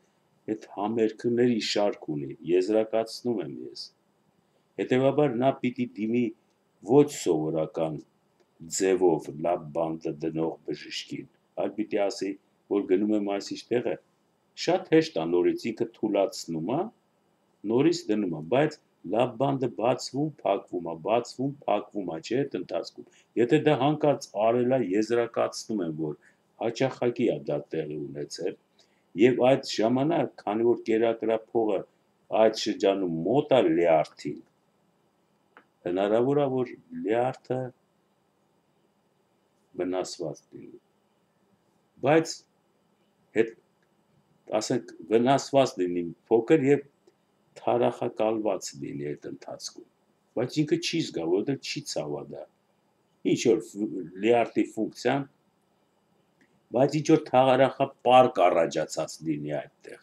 այդ համերգների շարք ունի, եզրակացնում եմ ես։ Հետևաբար նա պիտի դիմի ոչ սովորական ձևով լավ բանդը դնող բժշկին, այլ պիտի ասի, որ գնում եմ այսիշ տեղը, շատ հեշտ է նորից ինքը թույլատրում է, նորից դնում է, բայց լավ բանդը բացվում, փակվում է, բացվում, փակվում է, չէ՞ այդ ընթացքում։ Եթե դա հանկարծ արել է, եզրակացնում եմ, որ հաճախակի է դա տեղի ունեցել, եւ այդ ժամանակ, քանի որ կերակրափողը այդ շրջանում մոտ է լյարդին, հնարավոր է, որ լյարդը վնասված լինի, բայց հետ, ասենք, վնասված լինի փոքր եւ թարախակալված լինի այդ ընթացքում, բայց ինքը չի զգա, որովհետեւ չի ցավադա, ինչ որ լյարդի ֆունկցիան, բայց ինչ որ թարախապարկ առաջացած լինի այդտեղ,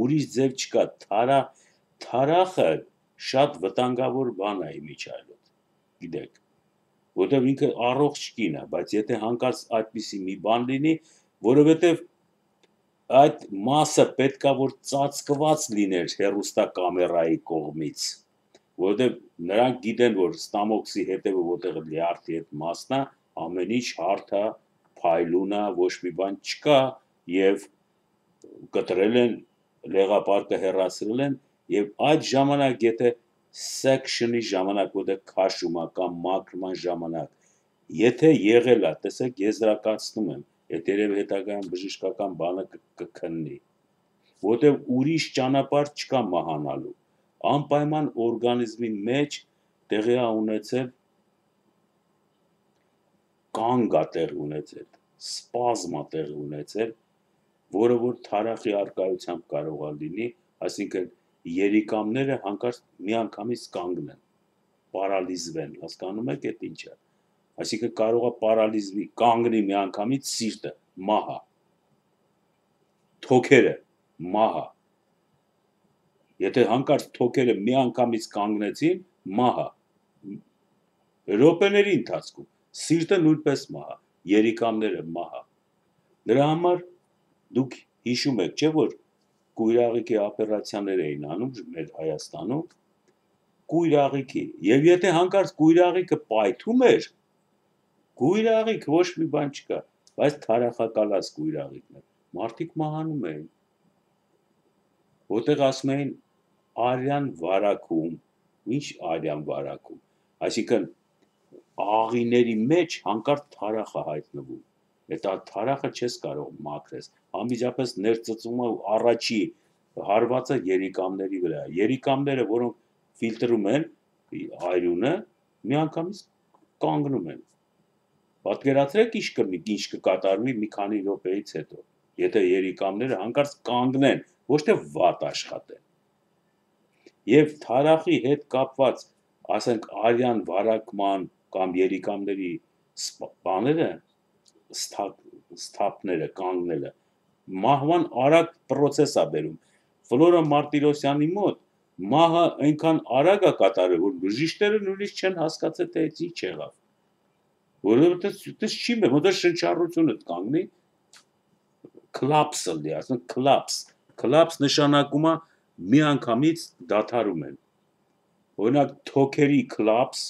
ուրիշ ձև չկա, թարախ, թարախը շատ վտանգավոր բան է իմիջիայլոց, գիտեք, որովհետև ինքը առողջ կին է, բայց եթե հանկարծ այդպիսի մի բան լինի, որովհետև այդ մասը պետքա որ ծածկված լիներ հեռուստակամերայի կողմից, որովհետև նրանք գիտեն, որ ստամոքսի հետևը որտեղ լյարդի այդ մասն է, ամեն ինչ հարթ է, փայլուն է, ոչ մի բան չկա եւ կտրել են լեղապարկը հեռացրել են եւ այդ ժամանակ եթե section-ի ժամանակ որտեղ քաշում է կամ մաքրման ժամանակ եթե եղել է, տեսեք եզրակացնում եմ, այդ երևի հետագայում բժշկական բանը կքննի, որտեղ ուրիշ ճանապարհ չկա մահանալու, անպայման օրգանիզմի մեջ տեղի է ունեցել կանգ է տեղի ունեցել, սպազմ է տեղի ունեցել, որը որ թարախի արկայությամբ կարող է լինի, այսինքն երիկամները հանկարծ միանգամից կանգնեն, պարալիզվեն, հասկանում եք այդ ինչը, այսինքն կարող է պարալիզվի, կանգնի միանգամից սիրտը, մահա, թոքերը, մահա, եթե հանկարծ թոքերը միանգամից կանգնեցին, մահա, րոպեների ընթացքում, սիրտը նույնպես մահա, երիկամները մահա, դրա համար դուք հիշում եք, չէ՞ որ կույրաղիքի օպերացիաներ էին անում մեր Հայաստանում, կույրաղիքի, եւ եթե հանկարծ կույրաղիքը պայթում էր, կույրաղիք ոչ մի բան չկա, բայց թարախակալած կույրաղիքն էր, մարդիկ մահանում էին, որտեղ ասում էին արյան վարակում, ինչ արյան վարակում, այսինքն աղիների մեջ հանկարծ թարախ է հայտնվում, այդ թարախը չես կարող մաքրես, անմիջապես ներծծում է առաջի հարվածը երիկամների վրա, երիկամները, որոնք ֆիլտրում են այրունը, միանգամից կանգնում են, պատկերացրեք ինչ կլինի, ինչ կկատարվի մի քանի րոպեից հետո, եթե երիկամները հանկարծ կանգնեն, ոչ թե վատ աշխատեն, և թարախի հետ կապված, ասենք արյան վարակման կամ երիկամների բաները, սթափները, կանգնելը, մահվան արագ պրոցես է բերում, Ֆլորա Մարտիրոսյանի մոտ մահը այնքան արագ է կատարել, որ բժիշկները նույնիսկ չեն հասկացել, թե այդ ինչ եղավ, որովհետև դա չի մե, ոնց շնչառությունը կանգնի, քլապսը լի, ասում քլապս, քլապս նշանակում է միանգամից դադարում են, օրինակ թոքերի քլապս,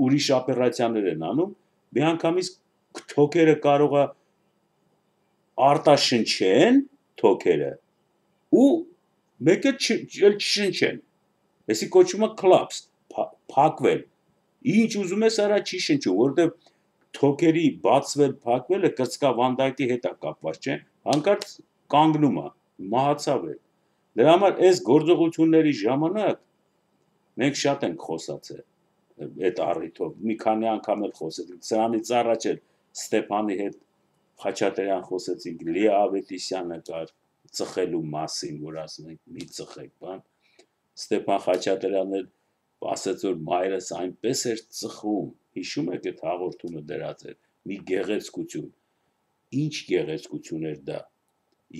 ուրիշ օպերացիաներ են անում, միանգամից թոքերը կարող է արտաշնչեն թոքերը ու մեկը չշնչեն, այսի կոչվում է քլապս, փակվել, ինչ ուզում ես արա չի շնչում, որովհետև թոքերի բացվել, փակվելը կրծքավանդակի հետ է կապված, չէ, հանկարծ կանգնում է, մահացավ է, դրա համար այս գործողությունների ժամանակ մենք շատ ենք խոսացել այդ առիթով, մի քանի անգամ էլ խոսեցինք, սրանից առաջ էլ Ստեփանի հետ Խաչատրյան խոսեցինք, Լիա Ավետիսյանը կար ծխելու մասին, որ ասում ենք մի ծխեք բան, Ստեփան Խաչատրյանն էլ ասաց, որ մայրս այնպես էր ծխում, հիշում եք այդ հաղորդումը դրած էր, մի գեղեցկություն, ինչ գեղեցկություն էր դա,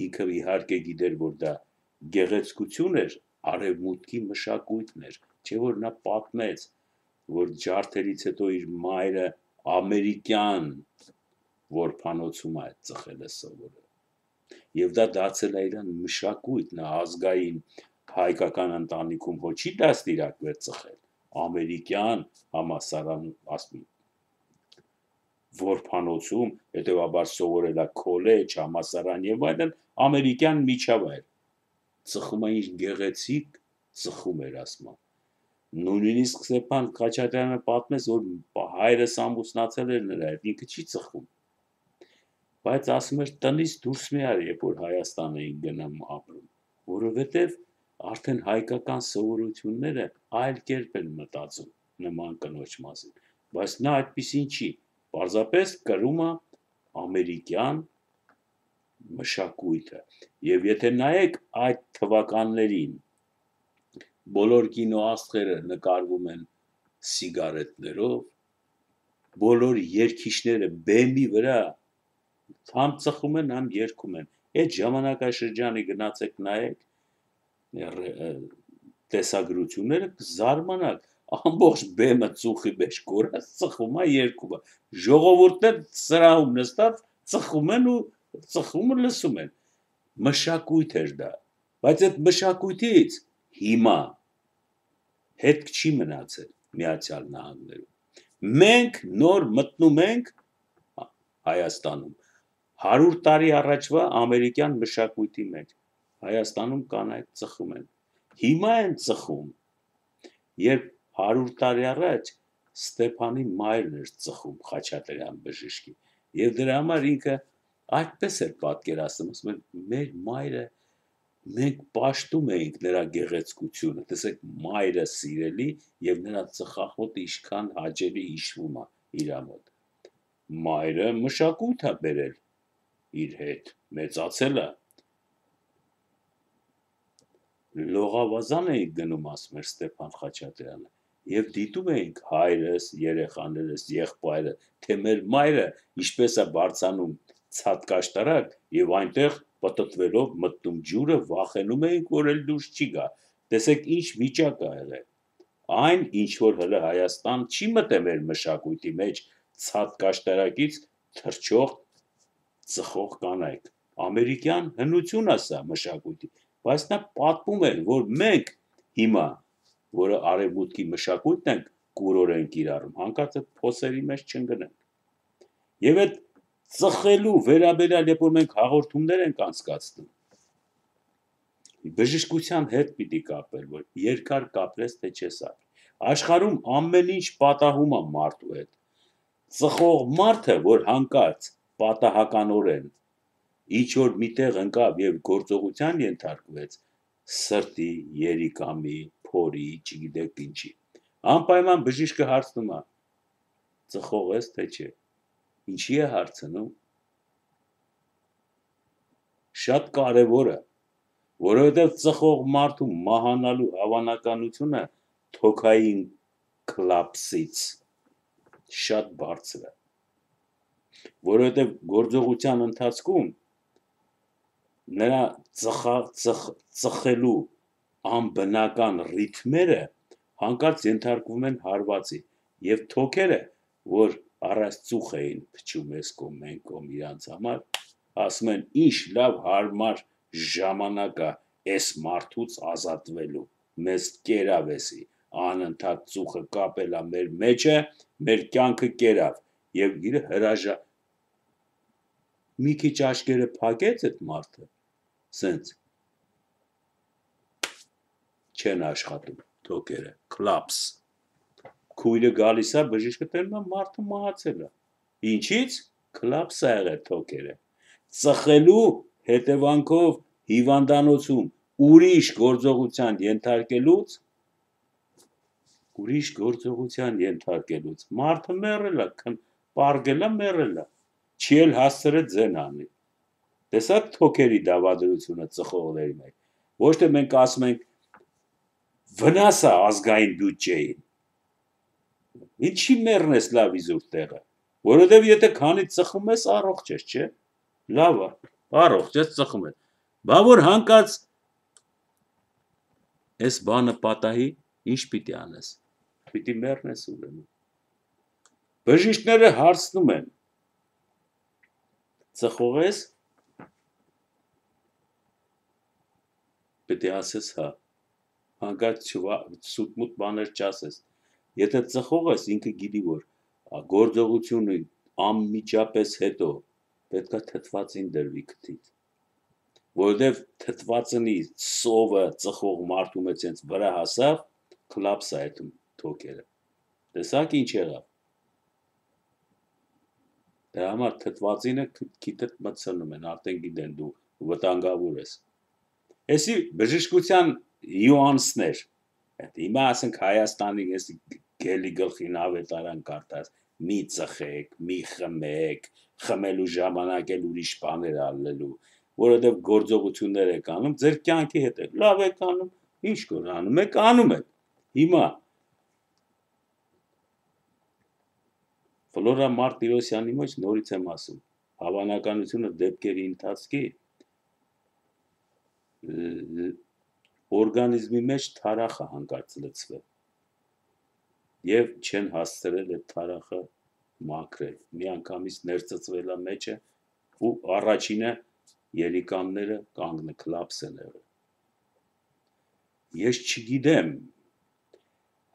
ինքը իհարկե գիտեր, որ դա գեղեցկություն էր, արևմուտքի մշակույթն էր, չէ որ նա պատմեց, որ ջարդերից հետո իր մայրը ամերիկյան որբանոցում է ծխելը սովորել, և դա դարձել է իրան մշակույթ, նա ազգային հայկական ընտանիքում հո չի դաստիարակվել ծխել, ամերիկյան համալսարանում, ասում որբանոցում, հետևաբար սովորել է քոլեջ, համալսարան և այլն, ամերիկյան միջավայր, ծխում է ինչ գեղեցիկ ծխում էր ասում, նույնիսկ Ստեփան Խաչատրյանը պատմեց, որ հայրս ամուսնացել էր նրա հետ, ինքը չի ծխում, բայց ասում էր տնից դուրս միար, երբ որ Հայաստան էին գնում ապրում, որովհետև արդեն հայկական սովորությունները այլ կերպ են մտածում նման կնոջ մասին, բայց նա այդպիսին չի, պարզապես կրում է ամերիկյան մշակույթը, և եթե նայեք այդ թվականներին, բոլոր կինոաստղերը նկարվում են սիգարետներով, բոլոր երգիչները բեմի վրա համ ծխում են, համ երգում են, այդ ժամանակաշրջանի գնացեք նայեք տեսագրությունները կզարմանաք, ամբողջ բեմը ծուխի մեջ կորած ծխում է, երգում է, ժողովուրդն սրահում նստած ծխում են ու ծխումը լսում են, մշակույթ էր դա, բայց այդ մշակույթից հիմա հետք չի մնացել Միացյալ Նահանգներում, մենք նոր մտնում ենք Հայաստանում, հարյուր տարի առաջվա ամերիկյան մշակույթի մեջ, Հայաստանում կանայք ծխում են, հիմա են ծխում, երբ հարյուր տարի առաջ Ստեփանի մայրն էր ծխում Խաչատրյան բժշկի, և դրա համար ինքը այդպես էր պատկերացնում, ասում էր մեր մայրը, մենք պաշտում էինք նրա գեղեցկությունը, տեսեք մայրը սիրելի և նրա ծխախոտը ինչքան հաճելի հիշվում է իրա մոտ, մայրը մշակույթ է բերել իր հետ, մեծացել է, լողավազան էինք գնում, ասում էր Ստեփան Խաչատրյանը, և դիտում էինք հայրս, երեխաներս, եղբայրը, թե մեր մայրը ինչպես է բարձրանում ցատկաշտարակ և այնտեղ պտտվելով մտնում ջուրը, վախենում էինք, որ էլ դուրս չի գա, տեսեք ինչ վիճակ է եղել, այն ինչ որ հələ Հայաստան չի մտել մեր մշակույթի մեջ, ցատկաշտարակից թռչող ծխող կանայք, ամերիկյան հնություն է սա մշակույթի, բայց նա պատմում էր, որ մենք հիմա, որը արևմուտքի մշակույթն ենք կուրորեն կիրառում, հանկարծ այդ փոսերի մեջ չընկնենք, և այդ ծխելու վերաբերյալ, երբ որ մենք հաղորդումներ ենք անցկացնում, բժշկության հետ պիտի կապել, որ երկար կապրես, թե չես ապրի։ Աշխարհում ամեն ինչ պատահում է մարդու հետ։ Ծխող մարդը, որ հանկարծ պատահականորեն ինչ որ միտեղ ընկավ եւ գործողության ենթարկվեց, սրտի, երիկամի, փորի, չգիտեք ինչի։ Անպայման բժիշկը հարցնում է. ծխող ես թե չէ։ Ինչի է հարցնում։ Շատ կարևոր է, որովհետև ծխող մարդու մահանալու հավանականությունը թոքային կլապսից շատ բարձր է, որովհետև գործողության ընթացքում նրա ծխա, ծխ, ծխելու անբնական ռիթմերը հանկարծ ենթարկվում են հարվածի եւ թոքերը, որ առած ծուխ էին փչում ես կողմ մեն կողմ իրանց համար, ասում են ինչ լավ հարմար ժամանակ է այս մարդուց ազատվելու, մեզ կերավ էսի, անընդհատ ծուխը կապելա մեր մեջը, մեր կյանքը կերավ եւ իր հրաժա մի քիչ աչքերը փակեց այդ մարդը, սենց չեն աշխատում թոքերը, կլապս, քույրը գալիս է, բժիշկը տենում է մարդը մահացել է, ինչից, կլապս է եղել թոքերը, ծխելու հետևանքով հիվանդանոցում ուրիշ գործողության ենթարկելուց, ուրիշ գործողության ենթարկելուց, մարդը մեռել է, պարգել է, մեռել է, չի էլ հասցրել ձեն անի, տեսակ թոքերի դավադրությունը ծխողների մեջ, ոչ թե մենք ասում ենք, վնաս է ազգային բյուջեին, ինչի մեռնես լավ իզուր տեղը, որովհետև եթե քանի ծխում ես, առողջ ես, չէ, լավ է, առողջ ես, ծխում ես, բա որ հանկարծ այս բանը պատահի, ինչ պիտի անես, պիտի մեռնես ուրեմն, բժիշկները հարցնում են, ծխող ես, պիտի ասես հա, հանկարծ սուտմուտ բաներ չասես, եթե ծխող ես, ինքը գիտի, որ գործողությունը անմիջապես հետո պետք է թթվածին դրվի քթից, որովհետև թթվածնի սովը ծխող մարդու մեջ հենց վրա հասավ, կլապս է հետում թոքերը, տեսակ ինչ եղավ, դրա համար թթվածինը քիթդ մտցնում են, արդեն գիտեն դու վտանգավոր ես, էսի բժշկության յուանսներ, հիմա ասենք Հայաստանի գելի գլխին ավետարան կարդաս, մի ծխեք, մի խմեք, խմելու ժամանակ էլ ուրիշ բաներ ալելու, որովհետև գործողություններ եք անում, ձեր կյանքի հետ եք, լավ եք անում, ինչ կոր անում եք, անում եք, հիմա Ֆլորա Մարտիրոսյանի մեջ նորից եմ ասում, հավանականությունը դեպքերի ընթացքի օրգանիզմի մեջ թարախը հանկարծ լցվել եւ չեն հասցրել այդ թարախը մաքրել, մի անգամից ներծծվել է մեջը ու առաջինը երիկամները կանգնը կլապս են եղել։ Ես չգիտեմ,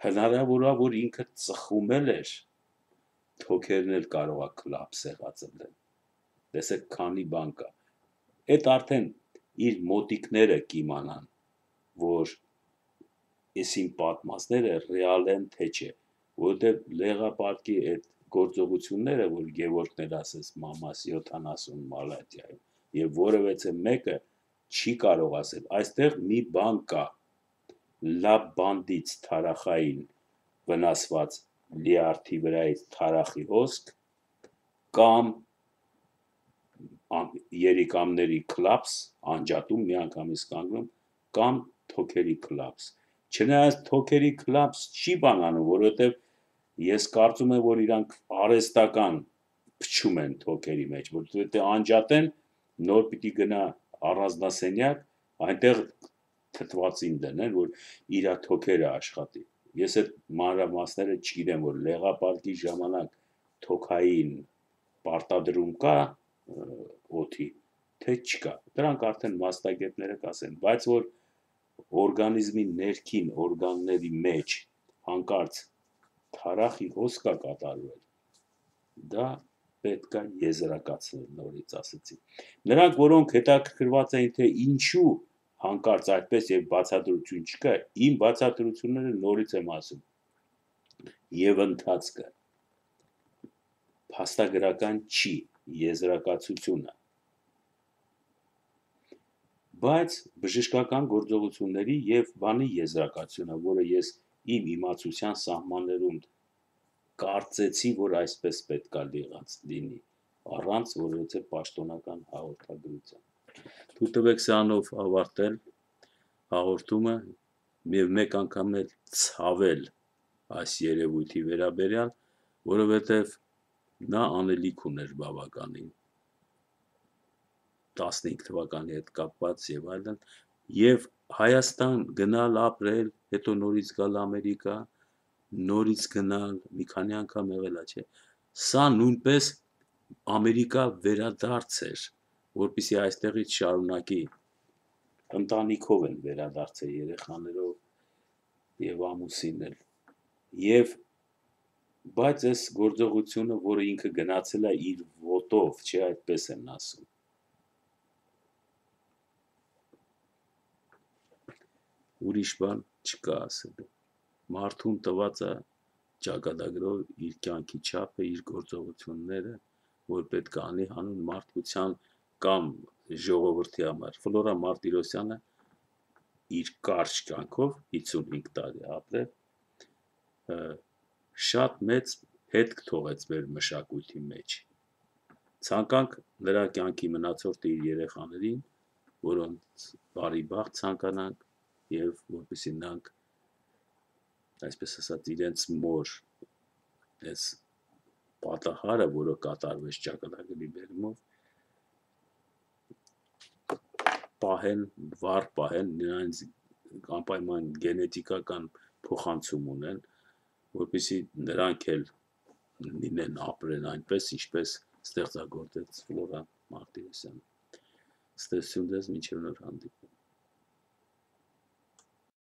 հնարավոր է, որ ինքը ծխում էր, թոքերն էլ կարող է կլապս եղածել, տեսեք քանի բան կա, այդ արդեն իր մոտիկները կիմանան, որ եսին պատմածները ռեալ են թե չէ, որովհետև լեղապարտքի այդ գործողությունները, որ Գևորգն էլ ասես մամաս յոթանասուն Մալատիայում, եւ որևէցե մեկը չի կարող ասել, այստեղ մի բան կա, լավ բանդից թարախային վնասված լիարդի վրայից թարախի հոսք, կամ երիկամների կլապս, անջատում մի անգամից կանգնում, կամ թոքերի կլապս, չնայած թոքերի կլապս չի բանանում, որովհետև ես կարծում եմ, որ իրանք արհեստական փչում են թոքերի մեջ, որովհետև անջատեն, նոր պիտի գնա առանձնասենյակ, այնտեղ թթվածին դնեն, որ իրա թոքերը աշխատի, ես այդ մանրամասները չգիտեմ, որ լեղապարտքի ժամանակ թոքային պարտադրում կա օդի, թե չկա, դրանք արդեն մասնագետները կասեն, բայց որ օրգանիզմի ներքին օրգանների մեջ հանկարծ թարախի հոսք է կատարվել, դա պետք է եզրակացնել նորից ասեցի։ Նրանք, որոնք հետաքրքրված էին, թե ինչու հանկարծ այդպես եւ բացատրություն չկա, իմ բացատրությունները նորից եմ ասում, եւ ընթացքը փաստագրական չի եզրակացությունը, բայց բժշկական գործողությունների եւ բանի եզրակացությունը, որը ես իմ իմացության սահմաններում կարծեցի, որ այսպես պետք է եղած լինի, առանց որևէ պաշտոնական հաղորդագրության։ Թույլ տվեք սրանով ավարտել հաղորդումը եւ մեկ անգամ էլ ցավել այս երևույթի վերաբերյալ, որովհետեւ նա անելիք ուներ բավականին տասնհինգ թվականի հետ կապված եւ այլն, եւ Հայաստան գնալ ապրել, հետո նորից գալ Ամերիկա, նորից գնալ, մի քանի անգամ եղել է, չէ։ Սա նույնպես Ամերիկա վերադարձ էր, որպեսզի այստեղից շարունակի ընտանիքով են վերադարձել երեխաներով եւ ամուսինն էլ։ Եվ բայց այս գործողությունը, որը ինքը գնացել է իր ոտով, չէ, այդպես են ասում։ Ուրիշ բան չկա ասելու։ Մարդուն տված է ճակատագրով իր կյանքի չափը, իր գործողությունները, որ պետք է անի հանուն մարդկության կամ ժողովրդի համար։ Ֆլորա Մարտիրոսյանը իր կարճ կյանքով հիսունհինգ տարի ապրել, շատ մեծ հետք թողեց մեր մշակույթի մեջ։ Ցանկանք նրա կյանքի մնացորդը իր երեխաներին, որոնց բարի բախտ ցանկանանք եւ որպեսզի նրանք այսպես ասած իրենց մոր այս պատահարը, որը կատարվեց ճակատագրի բերումով, պահեն, վառ պահեն, նրանց անպայման գենետիկական փոխանցում ունեն, որպեսզի նրանք էլ լինեն ապրեն այնպես, ինչպես ստեղծագործեց Ֆլորա Մարտիրոսյանը։ Ստեսություն դες մինչև նոր հանդիպում։